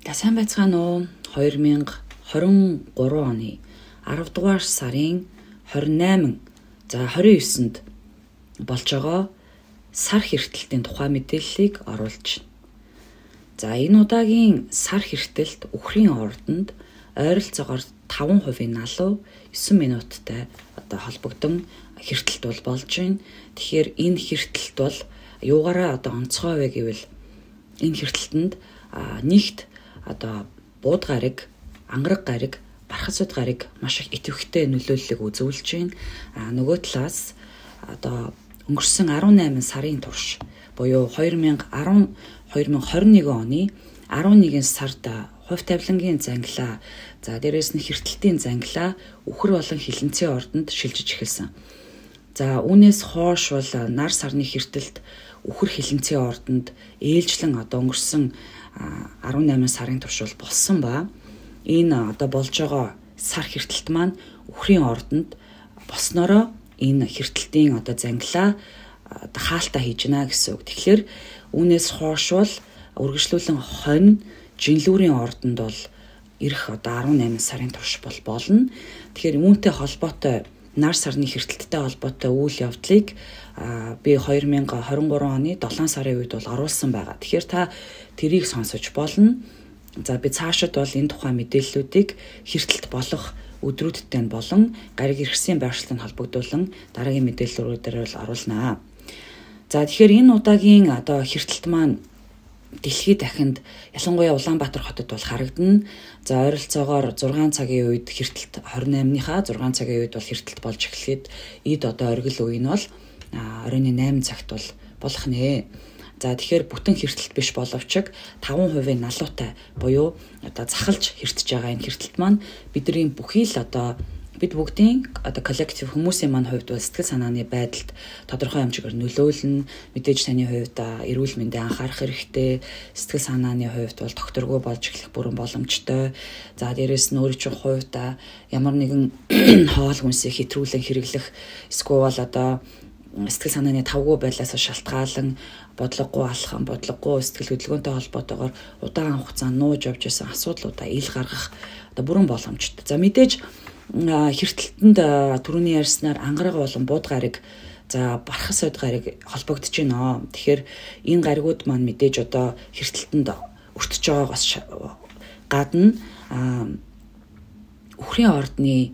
Сайн байцгаана уу? 2023 оны 10 дугаар сарын 28, 29-нд болж байгаа сар хэртэлтийн тухай мэдээллийг оруулж байна. Энэ удаагийн сар хэртэлт үхрийн ордонд ойролцоогоор 5% налуу 9 минуттай холбогдсон хэртэлт бол болж байна. Тэгэхээр энэ хэртэлт бол юугаараа онцгой вэ гэвэл энэ хэртэлтэнд нэгт бууд гариг, ангараг гариг, бархасууд гариг маш их идэвхтэй нөлөөллийг үзүүлж байна. Нөгөө талаас өнгөрсөн 18 сарын турш буюу 2021 оны 11 сард хувь тавилангийн зангилаа, дээрээс нь хэртэлтийн зангилаа үхэр болон хилэнцгийн ордонд шилжиж эхэлсэн. Үүнээс хойш бол нар сарны хэртэлт үхэр хилэнцгийн ордонд ээлжлэн өнгөрсөн 18 сарын турш болсон ба энэ болж байгаа сар хэртэлт маань үхрийн ордонд болсноороо энэ хэртэлтийн зангилаа хаалтаа хийж гинэ гэсэн үг. Тэгэхээр үүнээс хойш бол үргэлжлүүлэн хонь жинлүүрийн ордонд бол ирэх 18 сарын турш болно. Тэгэхээр үүнтэй холбоотой нар сарны хэртэлттэй холбоотой үйл явдлыг би 2023 оны 7 сарын үед бол оруулсан байгаа. Тэгэхээр та тэрийг сонсож болно. Би цаашид бол энэ тухай мэдээллүүдийг хэртэлт болох өдрүүдтэй болон гариг иргэсийн байршлыг холбогдуулан дараагийн мэдээллүүдээр бол оруулнаа. Тэгэхээр энэ удаагийн хэртэлт маань дэлхийд дахинд ялангуяа Улаанбаатар хотод бол харагдана. Ойролцоогоор 6 цагийн үед хэртэлт 28-ныхаа 6 цагийн үед бол хэртэлт болж эхлэхэд эд оргил үе нь бол оройн 8 цагт бол болох нэ. Тэгэхээр бүтэн хэртэлт биш боловч 5% налуутай буюу захалж хэртэж байгаа энэ хэртэлт маань бидний бүхий л бид бүгдийн коллектив хүмүүсийн маань хувьд бол сэтгэл санааны байдалд тодорхой хэмжээгээр нөлөөлнө. Мэдээж таны хувьд эрүүл мэндэд анхаарах хэрэгтэй, сэтгэл санааны хувьд бол докторгүй болж эхлэх бүрэн боломжтой. Дээрээс нь өөрийн чинь хувьд ямар нэгэн хоол хүнсийг хэтрүүлэн хэрэглэх эсвэл сэтгэл санааны тавгүй байлаас шалтгаалan бодлогогүй алхам, бодлогогүй сэтгэл хөдөлгөөнтэй холбоотойгоор удаан хугацаанд нууж явж байсан асуудлуудаа ил гаргах бүрэн боломжтой. Мэдээж хэртэлтэнд түрүүний ярьснаар ангараг болон бууд гариг, бархасууд гариг холбогдож байна. Тэгэхээр энэ гаригууд маань мэдээж хэртэлтэнд өртөж байгаагаас гадна үхрийн ордны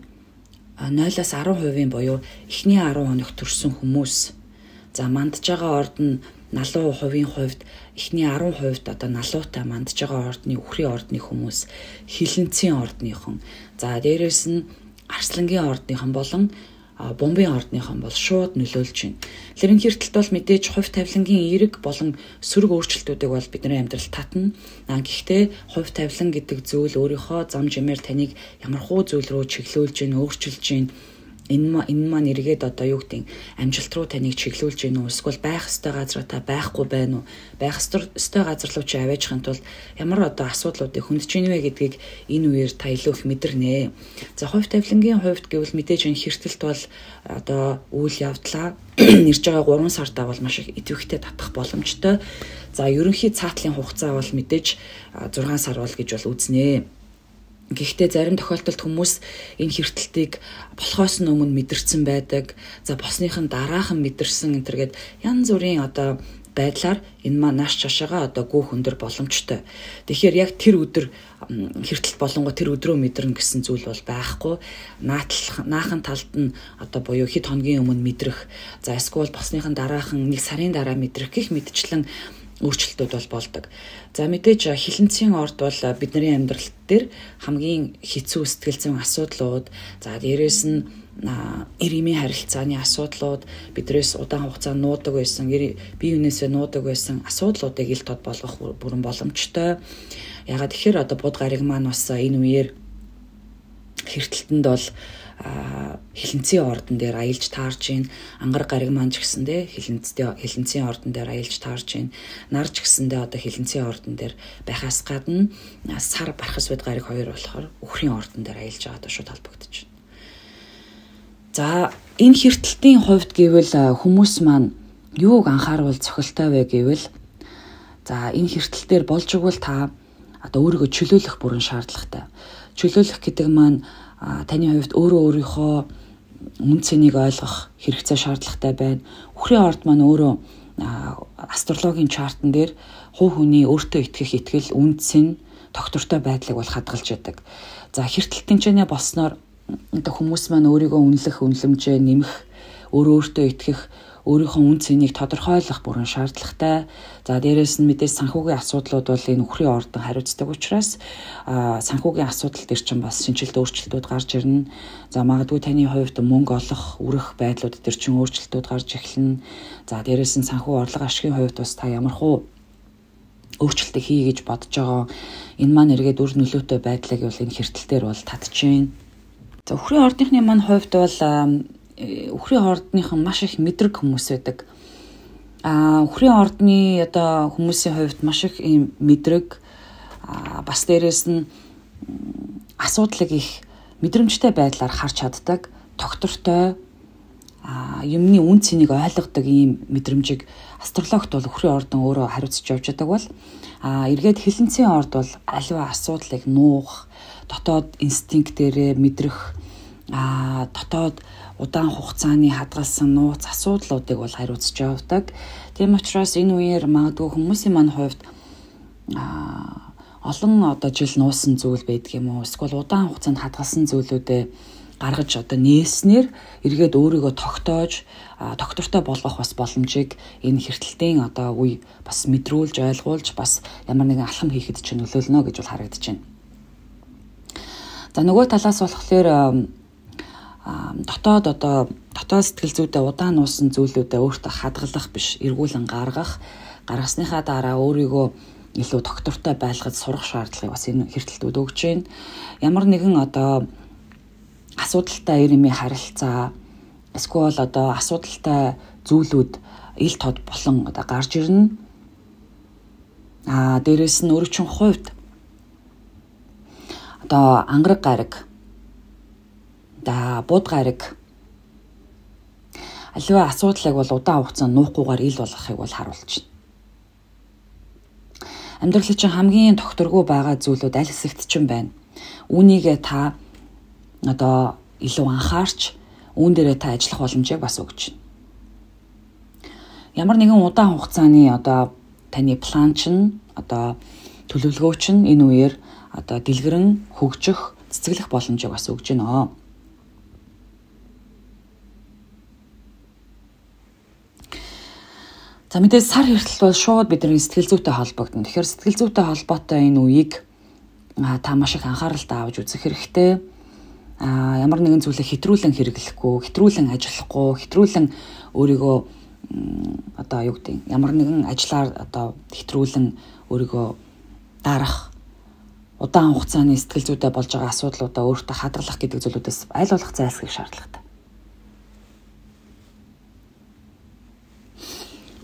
0-10% буюу эхний 10 хоног төрсэн хүмүүс мандж байгаа ордон налуу хувийн хувьд эхний 10% налуутай мандж байгаа ордны үхрийн ордны хүмүүс хилэнцгийн ордныхон, дээрээс нь арслангийн ордныхон болон бомбын ордныхон бол шууд нөлөөлж байна. Тэгэхээр энэ хэртэлт бол мэдээж хувь тавилангийн эерэг болон сөрөг өөрчлөлтүүдийг бол бидний амьдралд татна. Гэхдээ хувь тавилан гэдэг зүйл өөрийнхөө зам жимээр таныг ямархуу зүйл рүү чиглүүлж гин, өөрчилж гин. Энэ маань эргээд амжилт руу таныг чиглүүлж гин үү? Эсвэл байх ёстой газар та байхгүй байна уу? Байх ёстой газар руу чи аваажхын тулд ямар асуудлуудыг хөндж гин вэ гэдгийг энэ үеэр та илүү их мэдэрнэ. Хувь тавилангийн хувьд гэвэл мэдээж энэ хэртэлт бол үйл явдлаа ирж байгаа 3 сартаа бол маш их идэвхтэй татах боломжтой. Ерөнхий цаатлын хугацаа бол мэдээж 6 сар бол гэж бол үзнэ. Гэхдээ зарим тохиолдолд хүмүүс энэ хэртэлтийг болохоос нь өмнө мэдэрсэн байдаг. Босныхын дараахан мэдэрсэн энтергээд янз бүрийн байдлаар энэ маань нааш чашаага гүөх өндөр боломжтой. Тэгэхээр яг тэр өдөр хэртэлт болонгоо тэр өдрөө мэдэрнэ гэсэн зүйл бол байхгүй. Наахан талд нь буюу хэд хоногийн өмнө мэдрэх, эсвэл босныхын дараахан 1 сарын дараа мэдрэх гэх мэтчлэн өөрчлөлтүүд бол болдог. Мэдээж хилэнцгийн орд бол бидний амьдрал дээр хамгийн хэцүү сэтгэл зүйн асуудлууд, дээрээс нь эргэмийн харилцааны асуудлууд, бидрээс удаан хугацаанд нуудаг байсан, бие биенээсээ нуудаг байсан асуудлуудыг ил тод болгох бүрэн боломжтой. Ягаад тэгэхээр бууд гариг маань бас энэ үеэр хэртэлтэнд бол хилэнцгийн ордон дээр аялж таарж гин, ангараг гариг маань ч гэсэндээ хилэнцгийн ордон дээр аялж таарж гин, нар ч гэсэндээ хилэнцгийн ордон дээр байхаас гадна сар бархасууд гариг хоёр болохоор үхрийн ордон дээр аялж байгаа шууд холбогдож байна. Энэ хэртэлтийн хувьд гэвэл хүмүүс маань юуг анхааруул цохилтой вэ гэвэл энэ хэртэлтээр болж игэл та одоо өөрийгөө чөлөөлөх бүрэн шаардлагатай. Чөлөөлөх гэдэг маань таны хувьд өөрийнхөө үн цэнийг ойлгох хэрэгцээ шаардлагатай байна. Үхрийн орд маань өөрөө астрологийн чартан дээр хувь хүний өөртөө итгэх итгэл, үн цэн, тогтвортой байдлыг бол хадгалж яадаг. За хэртэл тэнцэнэ болсноор хүмүүс маань өөрийгөө үнэлэх, үнэлэмжээ нэмэх, өөртөө итгэх, өөрийнхөө үн цэнийг тодорхойлох бүрэн шаардлагатай. За дээрээс нь мэдээж санхүүгийн асуудлууд бол энэ үхрийн ордон хариуцдаг учраас санхүүгийн асуудал дээр чинь бас шинжилт өөрчлөлтүүд гарч ирнэ. За магадгүй таны хувьд мөнгө олох, үрэх байдлууд дээр чинь өөрчлөлтүүд гарч эхэлнэ. За дээрээс нь санхүү орлого ашигын хувьд бас та ямархуу өөрчлөлтийг хий гэж бодож байгаа. Энэ маань эргээд үр нөлөөтэй байдлыг бол энэ хэртэлтээр бол татчихээн. За үхрийн ордынхны маань хувьд бол үхрийн ордныхан маш их мэдрэг хүмүүс байдаг. Үхрийн ордны одоо хүмүүсийн хувьд маш их ийм мэдрэг бас дээрээс нь асуудлыг их мэдрэмжтэй байдлаар харж чаддаг, тогтвортой юмны үн цэнийг ойлгодог ийм мэдрэмжийг астрологт бол үхрийн ордон өөрөө хариуцж явж байгаа бол эргээд хилэнцгийн орд бол аливаа асуудлыг нуух, дотоод инстинктээрээ мэдрэх, дотоод удаан хугацааны хадгалсан нууц асуудлуудыг бол хариуцж явдаг. Тийм учраас энэ үеэр магадгүй хүмүүсийн маань хувьд олон одоо жил нуусан зүйл байдаг юм уу? Эсвэл удаан хугацаанд хадгалсан зүйлүүдээ гаргаж одоо нээснээр эргээд өөрийгөө тогтоож, тогтвортой болгох бас боломжийг энэ хэртэлтийн одоо үе бас мэдрүүлж, ойлгуулж, бас ямар нэгэн алхам хийхэд ч нөлөөлнө гэж бол харагдаж байна. За нөгөө талаас болохоор дотоод сэтгэл зүйдээ удаан нуусан зүйлүүдээ өөртөө хадгалах биш, эргүүлэн гаргасныхаа дараа өөрийгөө илүү тогтвортой байлгаж сурах шаардлагыг бас энэ хэртэлтүүд өгч байна. Ямар нэгэн одоо асуудалтай ирэмий харилцаа, эсвэл одоо асуудалтай зүйлүүд ил тод болон одоо гарч ирнэ. Дээрээс нь өөрийн хувьд одоо ангараг гараг, бууд гараг аливаа асуудлыг бол удаан хугацаанд нуухгүйгээр ил болгохыг бол харуулж байна. Амьдралын чинь хамгийн тогтворгүй байгаа зүйлүүд аль хэсэгт ч юм байна. Үүнийгээ та одоо илүү анхаарч үүн дээрээ та ажиллах боломжийг бас өгч байна. Ямар нэгэн удаан хугацааны одоо таны план чинь одоо төлөвлөгөө чинь энэ үеэр одоо дэлгэрэн хөгжих, цэцгэлэх боломжийг бас өгж байна. За мэдээж сар хэртэл бол шууд бидний сэтгэл зүйтэй холбогдно. Тэгэхээр сэтгэл зүйтэй холбоотой энэ үеийг та маш их анхааралтай авч үзэх хэрэгтэй. Ямар нэгэн зүйлийг хэтрүүлэн хэрэглэхгүй, хэтрүүлэн ажиллахгүй, хэтрүүлэн өөрийгөө одоо юу гэдэг ямар нэгэн ажлаар одоо хэтрүүлэн өөрийгөө дарах, удаан хугацааны сэтгэл зүйтэй болж байгаа асуудлуудаа өөртөө хадгалах гэдэг зүйлүүдээс аль болох зайлсхийх шаардлагатай.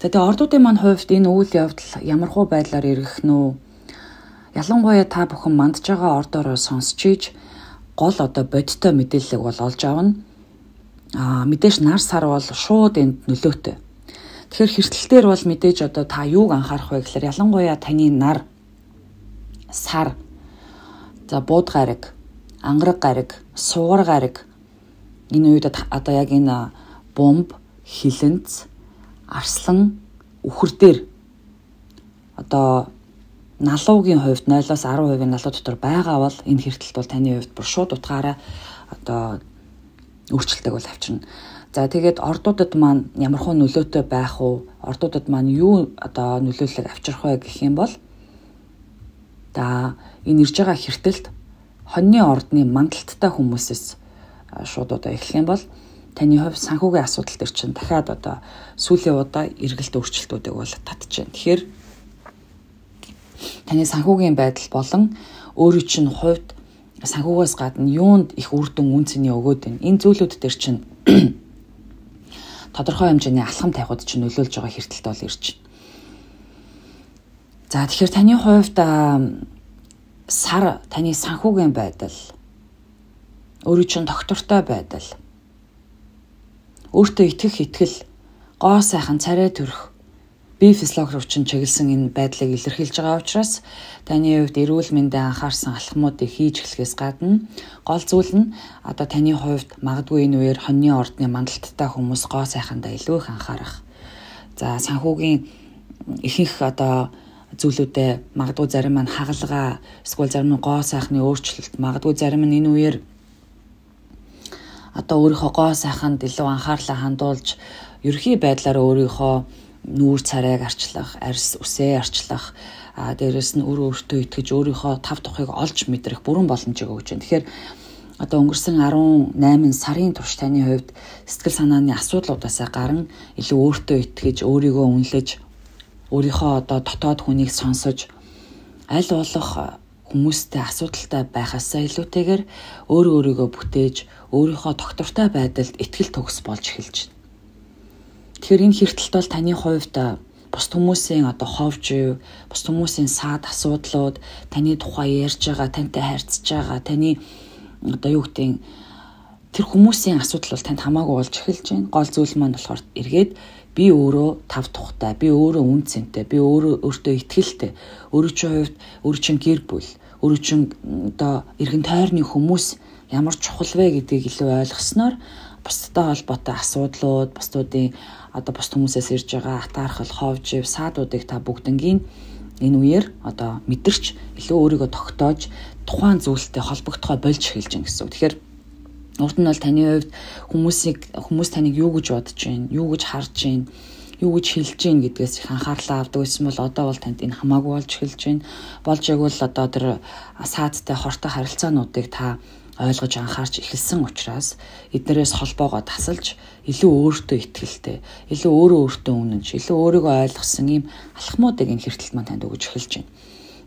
Тэгээ ордуудын маань хувьд энэ үйл явдал ямархуу байдлаар эргэх нь ялангуяа та бүхэн мандж байгаа ордоороо сонсч ийж гол одоо бодиттой мэдээллийг бол олж авна. Мэдээж нар сар бол шууд энд нөлөөтэй. Тэгэхээр хэртэлтээр бол мэдээж одоо та юуг анхаарах вэ гэхээр ялангуяа таны нар, сар, за бууд гараг, ангараг гараг, суугар гараг энэ үед одоо яг энэ бомб, хилэнц, арслан, үхэр дээр одоо налуугийн хувьд 0-10% налуу дотор байгаа бол энэ хэртэлт бол таны хувьд бүр шууд утгаараа одоо өөрчлөлтийг бол авчирна. За тэгээд ордуудад маань ямархуу нөлөөтэй байх уу? Ордуудад маань юу одоо нөлөөллөг авчрах вэ гэх юм бол энэ ирж байгаа хэртэлт хоньны ордны мандалттай хүмүүсээс шууд одоо эхлэх юм бол таны хувьд санхүүгийн асуудал төр чинь дахиад одоо сүүлийн удаа эргэлт өөрчлөлтүүдийг бол татчихээн. Тэгэхээр таны санхүүгийн байдал болон өөрийн чинь хувьд санхүүгээс гадна юунд их үр дүн үн цэний өгөөд байна. Энэ зүйлүүд төр чинь тодорхой хэмжээний алхам тавихад чинь нөлөөлж байгаа хэртэлт бол ирж байна. За тэгэхээр таны хувьд сар таны санхүүгийн байдал, өөрийн чинь тогтвортой байдал, өөртөө итгэх итгэл, гоо сайхан царай төрөх, бие физиологи руу чиглэсэн энэ байдлыг илэрхийлж байгаа учраас таны хувьд эрүүл мэндэд анхаарсан алхмуудыг хийж эхлэхээс гадна гол зүйл нь одоо таны хувьд магадгүй энэ үеэр хоньны ордны мандалттай хүмүүс гоо сайхандаа илүү их анхаарах. За санхүүгийн ихэнх одоо зүйлүүдэд магадгүй зарим нь хагалгаа, эсвэл зарим нь гоо сайхны өөрчлөлт, магадгүй зарим нь энэ үеэр одоо өөрийнхөө гоо сайханд илүү анхаарлаа хандуулж ерхий байдлаар өөрийнхөө нүүр царайг арчлах, арьс үсээ арчлах, дээрэс нь өөртөө итгэж өөрийнхөө тав тухыг олж мэдрэх бүрэн боломжийг өгч байна. Тэгэхээр одоо өнгөрсөн 18 сарын турш таны хувьд сэтгэл санааны асуудлуудаас гарan илүү өөртөө итгэж, өөрийгөө үнэлж, өөрийнхөө одоо дотоод хүнийг сонсож, аль болох хүмүүстэй асуудалтай байхаасаа илүүтэйгээр өөрийгөө бүтээж, өөрийнхөө доктортой байдалд итгэл төгс болж эхэлж байна. Тэгэхээр энэ хэрэгтэлт бол таны хувьд бус хүмүүсийн одоо ховж, бус хүмүүсийн саад асуудлууд, таны тухай ярьж байгаа, тантай харьцаж байгаа, таны одоо юу гэдэг тэр хүмүүсийн асуудал бол танд хамаагүй болж эхэлж байна. Гол зүйл маань болохоор эргээд би өөрөө тав тухтай, би өөрөө үн цэнтэй, би өөртөө итгэлтэй, өөрөө чинь хувьд өөрөө чинь гэр бүл, өөрөө чинь одоо эргэн тойрны хүмүүс ямар чухал вэ гэдгийг илүү ойлгосноор бусдтай холбоотой асуудлууд, бусдуудын одоо бусд хүмүүсээс ирж байгаа атаархал, ховж, саадуудыг та бүгднгийн энэ үеэр одоо мэдэрч илүү өөрийгөө тогтоож тухайн зүйлтэй холбогдохоо болж эхэлж байна гэсэн үг. Тэгэхээр урд нь бол таны хувьд хүмүүс таныг юу гэж бодож байна, юу гэж харж байна, юу гэж хэлж байна гэдгээс их анхаарлаа авдаг гэсэн бол одоо бол танд энэ хамаагүй болж эхэлж байна. Болж байгвал одоо тэр саадтай хортой харилцаануудыг та ойлгож анхаарч эхэлсэн учраас эднэрээс холбоогоо тасалж илүү өөртөө итгэлтэй, илүү өөртөө үнэнч, илүү өөрийгөө ойлгосон ийм алхмуудыг энэ хэрэгтэлт маань танд өгж эхэлж байна.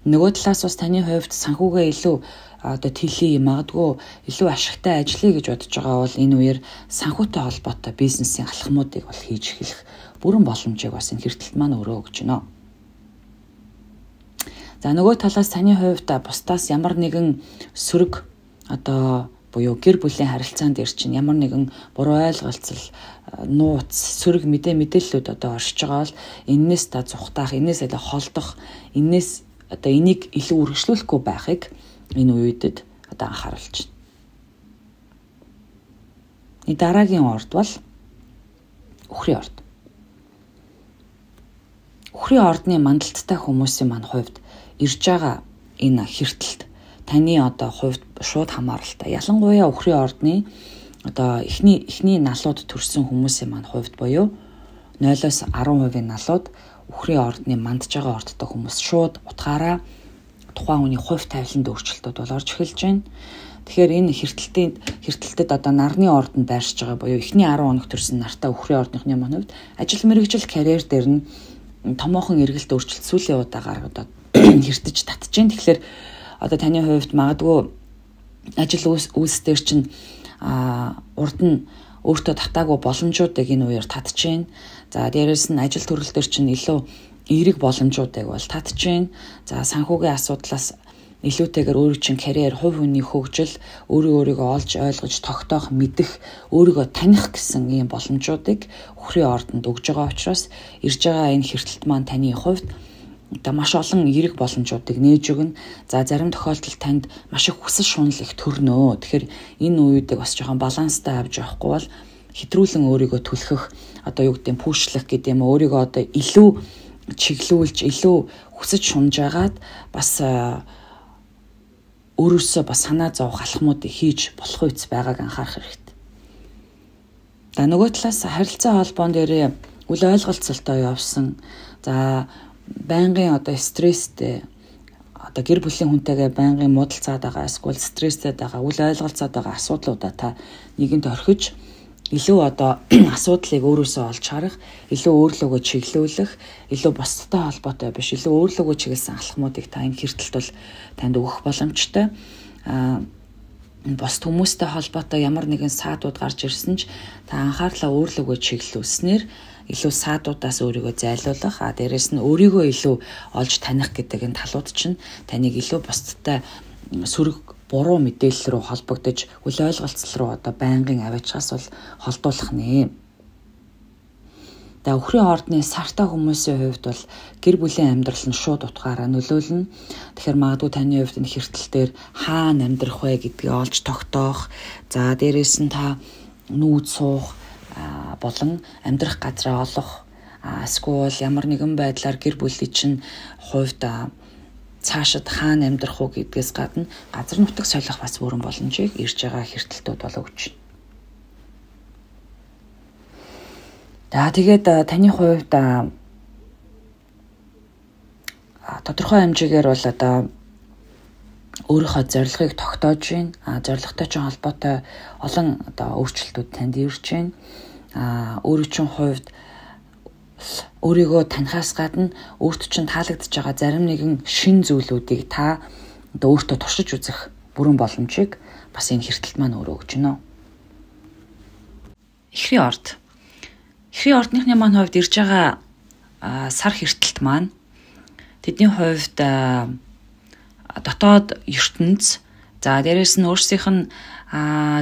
Нөгөө талаас бас таны хувьд санхүүгээ илүү одоо тэлхий, магадгүй илүү ашигтай ажиллая гэж бодож байгаа бол энэ үеэр санхүүтэй холбоотой бизнесийн алхмуудыг бол хийж эхлэх бүрэн боломжийг бас энэ хэрэгтэлт маань өөрөө өгч байна. За нөгөө талаас таны хувьд бусдаас ямар нэгэн сөрөг одоо буюу гэр бүлийн харилцаан дээр чинь ямар нэгэн буруу ойлголцол, нууц, сөрөг мэдээллүүд одоо оршиж байгаа бол энээс та зүхтаах, энээс илүү холдох, энээс одоо энийг илүү үргэлжлүүлэхгүй байхыг энэ үедэд одоо анхааруулж байна. Энэ дараагийн орд бол үхрийн орд. Үхрийн ордны мандалттай хүмүүсийн маань хувьд ирж байгаа энэ хэрэгтэлт таны одоо хувьд шууд хамааралтай. Ялангуяа үхрийн ордны одоо эхний налууд төрсэн хүмүүсийн маань хувьд буюу 0-10% налууд үхрийн ордны мандж байгаа ордтой хүмүүс шууд утгаараа тухайн хүний хувь тавиланд өөрчлөлтүүд бол орж эхэлж байна. Тэгэхээр энэ хэрэгтэлтэд одоо нарны ордонд байршиж байгаа буюу эхний 10 хоног төрсэн нартай үхрийн ордныхны маань хувьд ажил мэргэжил карьер дээр нь томоохон эргэлт өөрчлөлт сүүлийн удаагаар одоо хэртэж татж байна. Тэгэхээр одоо таны хувьд магадгүй ажил үйлс дээр чинь урд нь өөртөө татаагүй боломжуудыг энэ үеэр татж байна. За дээрэс нь ажил төрөл дээр чинь илүү эерэг боломжуудыг бол татж байна. За санхүүгийн асуудлаас илүүтэйгээр өөрийн чинь карьер, хувь хүний хөгжил, өөрийгөө олж ойлгож, тогтоох, мэдэх, өөрийгөө таних гэсэн ийм боломжуудыг үхрийн ордонд өгж байгаа учраас ирж байгаа энэ хэрэгтэлт маань таны хувьд маш олон эерэг боломжуудыг нээж өгнө. За зарим тохиолдолд танд маш их хүсэл шунал их төрнөө. Тэгэхээр энэ үеийг бас жоохон баланстай авч явахгүй бол хэтрүүлэн өөрийгөө түлхэх, одоо юу гэдэг нь пүүшлэх гэдэг юм өөрийгөө одоо илүү чиглүүлж, илүү хүсэж шунжаагаад бас өөрөөсөө бас санаа зовох алхмуудыг хийж болох үс байгааг анхаарах хэрэгтэй. За нөгөө талаас харилцаа холбоон дээр үл ойлголцолтой явсан. За байнгын одоо стресстэй одоо гэр бүлийн хүнтэйгээ байнгын муудалцаад байгаа, эсвэл стресстэй байгаа, үл ойлголцоод байгаа асуудлуудаа та нэгэнд орхиж илүү одоо асуудлыг өөрөөсөө олж харах, илүү өөрлөгөө чиглүүлэх, илүү бусдтай холбоотой биш, илүү өөрлөгөө чиглэсэн алхмуудыг та энэ хэрэгтэлт бол танд өгөх боломжтой. Бусд хүмүүстэй холбоотой ямар нэгэн саадууд гарч ирсэн ч та анхаарлаа өөрлөгөө чиглүүлснээр илүү саадуудаас өөрийгөө зайлуулах, дээрэс нь өөрийгөө илүү олж таних гэдэг энэ талууд чинь таныг илүү бусдтай сөрөг буруу мэдээлэл рүү холбогдож, үл ойлголцол руу одоо байнгын аваачаас бол холдуулах нэ. За өхрийн ордны сартай хүмүүсийн хувьд бол гэр бүлийн амьдрал нь шууд утгаараа нөлөөлнө. Тэгэхээр магадгүй таны хувьд энэ хэртэл дээр хаана амьдрах вэ гэдгийг олж тогтоох. За дээрээс нь та нүүд суух болон амьдрах газраа олох. Эсвэл ямар нэгэн байдлаар гэр бүлийн чинь хувьд цаашид хаана амьдрах уу гэдгээс гадна газар нутаг солих бас бүрэн боломжийг ирж байгаа хэртэлтүүд бол өгч байна. За тэгээд таны хувьд тодорхой хэмжээгээр бол одоо өөрийнхөө зорилгыг тогтоож байна. Зорилготой ч холбоотой олон одоо өөрчлөлтүүд танд ирж байна. Өөрийн чинь хувьд өөрийгөө танихаас гадна өөртөө чинь таалагдж байгаа зарим нэгэн шин зүйлүүдийг та одоо өөртөө туршиж үзэх бүрэн боломжийг бас энэ хэртэлт маань өөрөө өгч байна. Эхрийн орд. Эхрийн ордныхны маань хувьд ирж байгаа сар хэртэлт маань тэдний хувьд дотоод ертөнц за дээрэс нь өөрсдийнх нь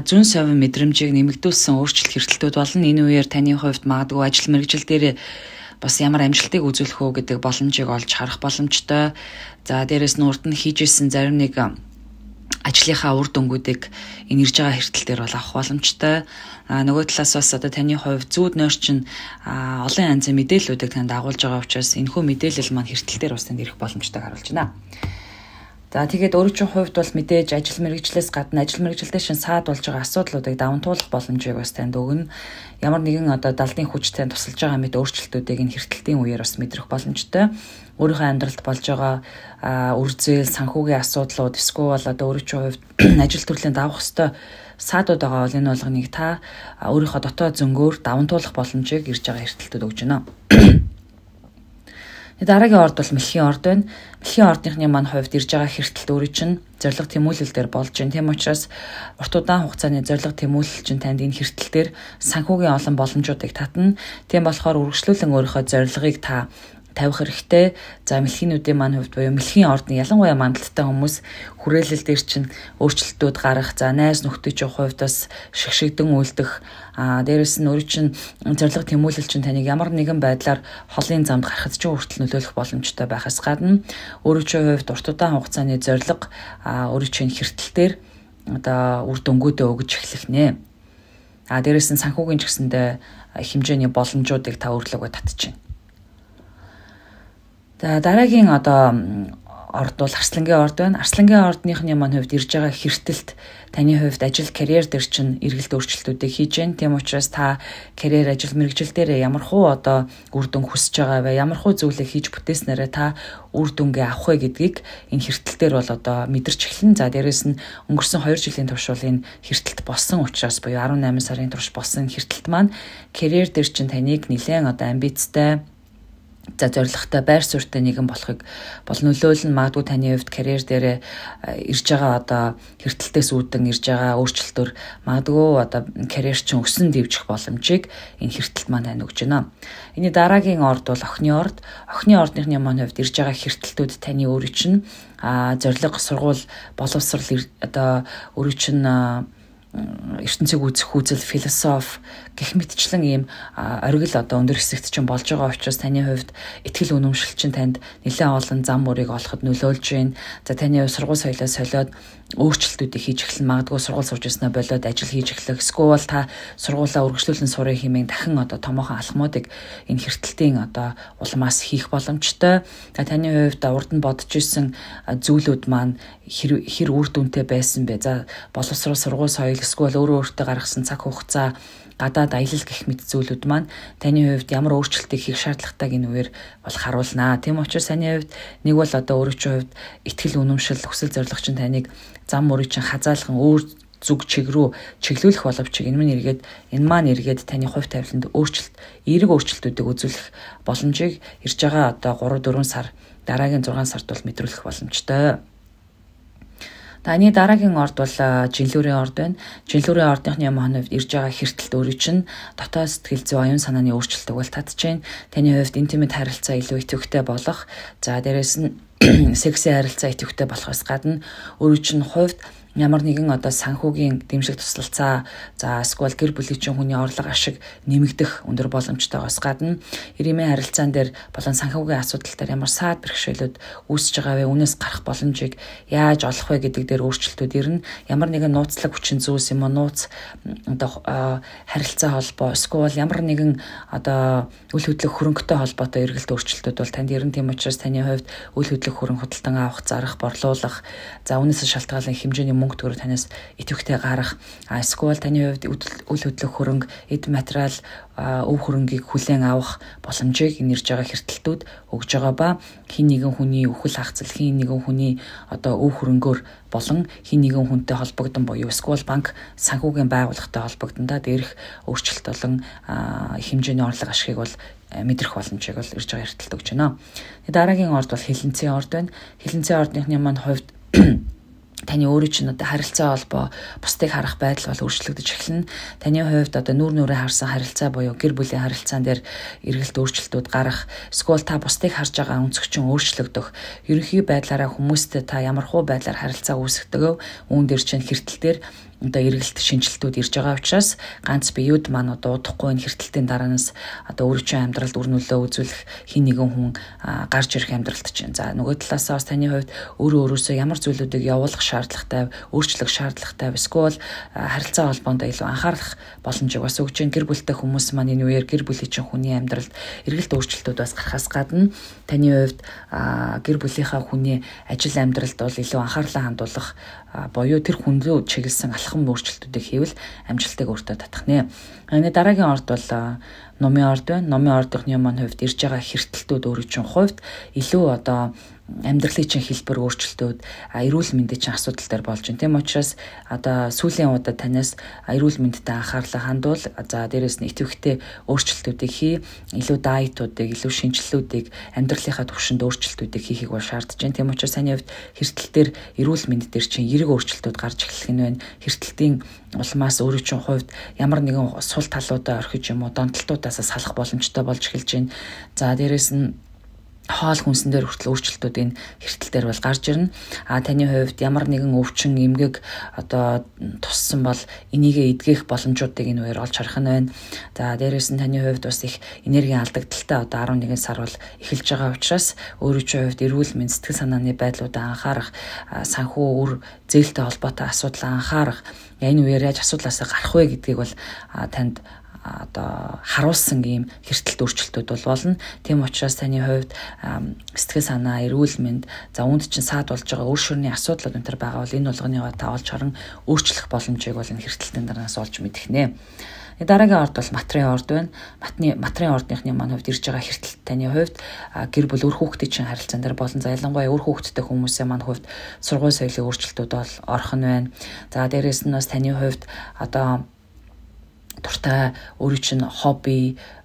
зүүн совин мэдрэмжийг нэмэгдүүлсэн өөрчлөлт хэртэлтүүд болно. Энэ үеэр таны хувьд магадгүй ажил мэргэжил дээр бас ямар амжилтыг үзүүлэх үү гэдэг боломжийг олж харах боломжтой. За дээрэс нь урд нь хийжсэн зарим нэг ажлынхаа үр дүнгуудыг энэ ирж байгаа хэртэлтээр бол авах боломжтой. Нөгөө талаас бас одоо таны хувьд зүүд нойр чинь олон янзын мэдээллүүдийг танд агуулж байгаа учраас энэхүү мэдээлэл маань хэртэлтээр бас танд ирэх боломжтойг харуулж байна. За тэгээд өөрийн чинь хувьд бол мэдээж ажил мэргэжлээс гадна ажил мэргэжилтэй шин саад болж байгаа асуудлуудыг даван туулах боломжийг бас танд өгнө. Ямар нэгэн одоо далдын хүч танд тусалж байгаа мэт өөрчлөлтүүдийг энэ хэртэлтийн үеэр бас мэдрэх боломжтой. Өөрийнхөө амьдралд болж байгаа үрзэл, санхүүгийн асуудлууд эсвэл одоо өөрийн чинь хувьд ажил төрлийн давах хэвээр саадууд байгаа бол энэ болгоныг та өөрийнхөө дотоод зөнгөөр даван туулах боломжийг ирж байгаа хэртэлтүүд өгж байна. Дараагийн орд бол мэлхийн орд байна. Мэлхийн ордныхны маань хувьд ирж байгаа хэртэлт өөрийн чинь зорилго тэмүүлэл дээр болж байна. Тийм учраас урт удаан хугацааны зорилго тэмүүлэл чинь танд энэ хэртэлтээр санхүүгийн олон боломжуудыг татна. Тийм болохоор үргэлжлүүлэн өөрийнхөө зорилгыг та тавих хэрэгтэй. За мэлхийнүүдийн маань хувьд буюу мэлхийн ордны ялангуяа мандалттай хүмүүс хүрээлэл дээр чинь өөрчлөлтүүд гарах. За найз нөхдийн хувьд бас шигшигдэн үлдэх. Дээрээс нь өөрийн чинь зорилго тэмүүлэл чинь таныг ямар нэгэн байдлаар холын замд гарахад ч хүртэл нөлөөлөх боломжтой байхаас гадна өөрийн чинь хувьд урт удаан хугацааны зорилго өөрийн чинь хэртэлтээр одоо үр дүнгуудээ өгж эхлэх нэ. Дээрээс нь санхүүгийн ч гэсэндээ хэмжээний боломжуудыг та өөрлөгөө татчихна. За дараагийн одоо орд бол арслангийн орд байна. Арслангийн ордныхны маань хувьд ирж байгаа хэртэлт таны хувьд ажил карьер дээр чинь эргэлт өөрчлөлтүүдийг хийж байна. Тийм учраас та карьер ажил мэргэжил дээр ямархуу одоо үр дүн хүсэж байгаа вэ? Ямархуу зүйлийг хийж бүтээснээрээ та үр дүнгээ авах вэ гэдгийг энэ хэртэлтээр бол одоо мэдэрч эхлэн. За дээрэс нь өнгөрсөн 2 жилийн турш бол энэ хэртэлт болсон учраас буюу 18 сарын турш болсон хэртэлт маань карьер дээр чинь таныг нэлээд одоо амбицтай за зорилготой байр суурьтай нэгэн болохыг бол нөлөөлн магадгүй таны хувьд карьер дээр ирж байгаа одоо хэртэлтээс үүдэн ирж байгаа өөрчлөлтөөр магадгүй одоо карьер чинь өсөн дэвжих боломжийг энэ хэртэлт маань тань өгч байна. Энийн дараагийн орд бол охины орд. Охины ордныхны маань хувьд ирж байгаа хэртэлтүүд таны өөрийн чинь зорилго сургууль боловсрал одоо өөрийн чинь ертөнцийг үзэх үзэл философи гэх мэтчлэн ийм оргил одоо өндөр хэсэгт чинь болж байгаа учраас таны хувьд итгэл үнэмшил чинь танд нэлээд олон зам мөрийг олоход нөлөөлж байна. За таны сургууль соёлоо солиод өөрчлөлтүүдийг хийж эхлэн магадгүй сургууль сурж ирснээр болоод ажил хийж эхлэх. Эсвэл та сургуулаа үргэлжлүүлэн сурах хэмээн дахин одоо томоохон алхмуудыг энэ хэртэлтийн одоо улмаас хийх боломжтой. Таны хувьд урд нь бодож исэн зүйлүүд маань хэр үр дүнтэй байсан бэ? За боловсрол сургууль соёл эсвэл өөрөө өөртөө гаргасан цаг хугацаа гадаад аялал гэх мэт зүйлүүд маань таны хувьд ямар өөрчлөлтийг хийх шаардлагатайг энэ үеэр бол харуулнаа. Тийм учраас таны хувьд нэг бол одоо өөрийн чинь хувьд итгэл үнэмшил хүсэл зориг чинь таныг зам мөрийг чинь хазаалхан өөр зүг чиг рүү чиглүүлэх боловч энэ маань эргээд таны хувь тавиланд эерэг өөрчлөлтүүдийг үзүүлэх боломжийг ирж байгаа одоо 3-4 сар дараагийн 6 сард бол мэдрүүлэх боломжтой. Таны дараагийн орд бол жинлүүрийн орд байна. Жинлүүрийн ордныхны маань хувьд ирж байгаа хэртэлт өөрийн чинь дотоод сэтгэл зүй оюун санааны өөрчлөлтөг бол татчихээн. Таны хувьд интимэт харилцаа илүү идэвхтэй болох. За дээрээс нь секси харилцаа идэвхтэй болохоос гадна өөрийн чинь хувьд ямар нэгэн одоо санхүүгийн дэмжлэг туслалцаа эсвэл гэр бүлийн чинь хүний орлого ашиг нэмэгдэх өндөр боломжтойгоос гадна ирэмийн харилцаан дээр болон санхүүгийн асуудал дээр ямар саад бэрхшээлүүд үүсэж байгаа вэ, үүнээс гарах боломжийг яаж олох вэ гэдэг дээр өөрчлөлтүүд ирнэ. Ямар нэгэн нууцлаг хүчин зүйлс юм уу, нууц одоо харилцаа холбоо эсвэл ямар нэгэн одоо үл хөдлөх хөрөнгөтэй холбоотой эргэлт өөрчлөлтүүд бол танд ирнэ. Тийм учраас таны хувьд үл хөдлөх хөрөнгө худалдан авах, зарах, борлуулах, үүнээс шалтгаалan хэмжээний мөнгө төгрөг танаас идэвхтэй гарах, эсвэл таны хувьд үл хөдлөх хөрөнгө, эд материал, өв хөрөнгийг хүлээн авах боломжийг нэрж байгаа хэртэлтүүд өгж байгаа ба хин нэгэн хүний үхэл хагцал, хин нэгэн хүний одоо өв хөрөнгөөр болон хин нэгэн хүнтэй холбогдсон буюу эсвэл банк санхүүгийн байгууллагатай холбогдсон дээрх өөрчлөлт болон хэмжээний орлого ашигыг бол мэдрэх боломжийг бол ирж байгаа хэртэлт өгч байна. Дараагийн орд бол хилэнцгийн орд байна. Хилэнцгийн ордныхны маань хувьд таны өөрөө чинь одоо харилцаа холбоо бусдыг харах байдал бол өөрчлөгдөж эхэлнэ. Таны хувьд одоо нүүр нүрээ харсан харилцаа буюу гэр бүлийн харилцаан дээр эргэлт өөрчлөлтүүд гарах, эсвэл та бусдыг харж байгаа өнцгчин өөрчлөгдөх, ерөнхий байдлаараа хүмүүстэй та ямархуу байдлаар харилцаа үүсгэдэг, үүн дээр чинь хэртэл дээр одоо эргэлт шинжилтүүд ирж байгаа учраас ганц биеуд маань одоо удахгүй энэ хэртэлтийн дараанаас одоо өөрийнхөө амьдралд үр нөлөө үзүүлэх хин нэгэн хүн гарч ирэх амьдралд чинь. За нөгөө талаасаа бас таны хувьд өөрөөсөө ямар зүйлүүдийг явуулах шаардлагатай, өөрчлөх шаардлагатай, эсвэл харилцаа холбоонд илүү анхаарах боломжийг бас өгч जैन. Гэр бүлтэй хүмүүс маань энэ үеэр гэр бүлийн чинь хүний амьдралд эргэлт өөрчлөлтүүд бас гарахаас гадна таны хувьд гэр бүлийнхаа хүний ажил амьдралд бол илүү анхаарлаа хандуулах боёо тэр хүн рүү чиглэсэн алхам өөрчлөлтүүдийг хийвэл амжилтыг өөртөө татах нэ. Энэ дараагийн орд бол номын орд байна. Номын ордынхны маань хувьд ирж байгаа хэртэлтүүд өөрийн чинь хувьд илүү одоо амьдралын чинь хэлбэр өөрчлөлтүүд, эрүүл мэндийн чинь асуудал дээр болж байна. Тийм учраас одоо сүүлийн удаад танаас эрүүл мэндэд анхаарлаа хандуул. За дээрэс нь идэвхтэй өөрчлөлтүүдийг хий, илүү дайетуудыг, илүү шинжилэлүүдийг, амьдралынхаа түвшинд өөрчлөлтүүдийг хийхийг бол шаардж байна. Тийм учраас таны хувьд хэртэл дээр эрүүл мэнд дээр чинь эерэг өөрчлөлтүүд гарч эхлэх нь байна. Хэртэлтийн улмаас өөрийн чинь хувьд ямар нэгэн сул талуудаа орхиж юм уу, донтолтуудаас салах боломжтой болж эхэлж байна. За дээрэс нь хоол хүнсэн дээр хүртэл өөрчлөлтүүд энэ хэртэл дээр бол гарч ирнэ. Таны хувьд ямар нэгэн өвчин, эмгэг одоо туссан бол энийгээ эдгэх боломжуудыг энэ үеэр олж харах нь байна. За дээрээс нь таны хувьд бас их энергийн алдагдaltaй одоо 11 сар бол эхэлж байгаа учраас өөрийн хувьд эрүүл мэнд, сэтгэл санааны байдлуудаа анхаарах, санхүү үр зээлтэй холбоотой асуудал анхаарах, энэ үеэр яаж асуудлаасаа гарах вэ гэдгийг бол танд одоо харуулсан ийм хэртэлт өөрчлөлтүүд бол болно. Тийм учраас таны хувьд сэтгэл санаа, эрүүл мэнд, за үүнд чинь саад болж байгаа өөр шөрний асуудлууд энэ төр байгаа бол энэ болгоны та олж харан өөрчлөх боломжийг бол энэ хэртэлтийн дараанаас олж мэдэх нэ. Дараагийн орд бол матрийн орд байна. Матрийн ордныхны маань хувьд ирж байгаа хэртэлт таны хувьд гэр бүл өр хүүхдийн чинь харилцаан дээр болон ялангуяа өр хүүхдтэй хүмүүсийн маань хувьд сургууль соёлын өөрчлөлтүүд бол орох нь байна. За дээрээс нь бас таны хувьд одоо дуртай өөрийн чинь хобби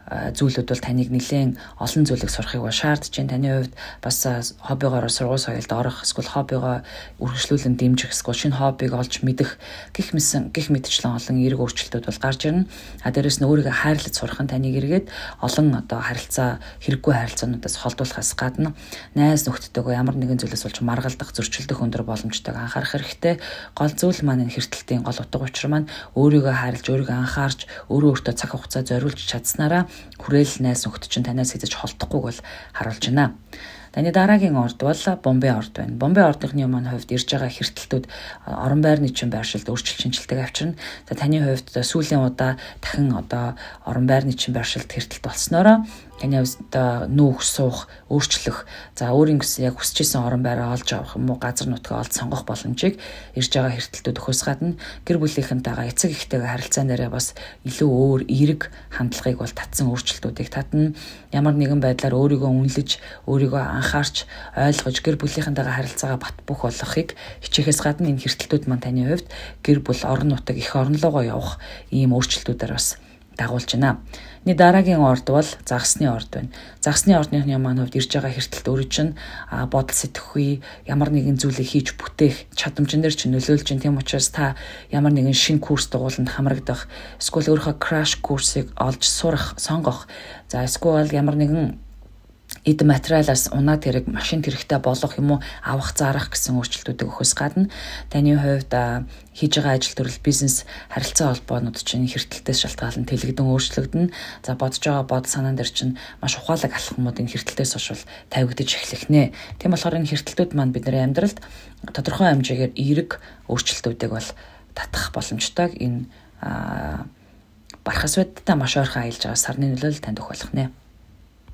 зүйлүүд бол таныг нэлээд олон зүйлийг сурахыг бол шаардж байна. Таны хувьд бас хоббигоор сургууль соёлд орох, эсвэл хоббигоо үргэлжлүүлэн дэмжих, эсвэл шинэ хоббиг олж мэдэх гэх мэтчлэн олон эерэг өөрчлөлтүүд бол гарч ирнэ. Дээрээс нь өөрийгөө хайрлаж сурах нь таныг эргээд олон одоо харилцаа, хэрэггүй харилцаануудаас холдуулахаас гадна найз нөхдөдөө ямар нэгэн зүйлээс болж маргалдах, зөрчилдөх өндөр боломжтойг анхаарах хэрэгтэй. Гол зүйл маань энэ хэртэлтийн гол утга учир маань өөрийгөө хайрлаж, өөрийгөө анхаарч, өөртөө цаг хугацаа зориулж чадсанараа хүрээл найз нөхдөд чинь танаас хэзэж холдохгүйг бол харуулж байна. Таны дараагийн орд бол Бомбей орд байна. Бомбей ордынхны маань хувьд ирж байгаа хэртэлтүүд орон байрны чинь байршилд өөрчлөлт шинжилтээг авчирна. За таны хувьд сүүлийн удаа дахин одоо орон байрны чинь байршилд хэртэлт болсноороо таны хувьд нүүх, суух, өөрчлөх, за өөрийн яг хүсэж исэн орон байраа олж авах юм уу, газар нутгаа олж сонгох боломжийг ирж байгаа хэртэлтүүд өгөхөөс гадна гэр бүлийнхэнтэйгээ эцэг эхтэйгээ харилцаан дээрээ бас илүү өөр эерэг хандлагыг бол татсан өөрчлөлтүүдийг татна. Ямар нэгэн байдлаар өөрийгөө үнэлж, өөрийгөө анхаарч, ойлгож гэр бүлийнхэнтэйгээ харилцаагаа бат бөх болгохыг хичээхээс гадна энэ хэртэлтүүд маань таны хувьд гэр бүл, орон нутаг, их оронлогоо явах ийм өөрчлөлтүүдээр бас дагуулж байна. Дараагийн орд бол загасны орд байна. Загасны ордныхны маань хувьд ирж байгаа хэртэлт өөрөө чинь бодол сэтгэхүй, ямар нэгэн зүйлийг хийж бүтээх чадамжин дээр чинь нөлөөлж байна. Тийм учраас та ямар нэгэн шинэ курс дугууланд хамрагдах, эсвэл өөрийнхөө краш курсыг олж сурах, сонгох, за эсвэл ямар нэгэн эд материалаас унаад хэрэг машин хэрэгтэй болох юм уу авах зарах гэсэн өөрчлөлтүүдийг өгөхөөс гадна таны хувьд хийж байгаа ажил төрөл бизнес харилцаа холбоонууд чинь хэртэлтээс шалтгаалan тэлэгдэн өөрчлөгдөн. За бодож байгаа бод санаан дээр чинь маш ухаалаг алхмууд энэ хэртэлтээс хойш тавигдаж эхлэх нэ. Тийм болохоор энэ хэртэлтүүд маань бидний амьдралд тодорхой хэмжээгээр эерэг өөрчлөлтүүдийг бол татах боломжтой. Энэ бархасвадтай маш ойрхон аялж байгаа сарны нөлөөлөл танд өгөх болох нэ.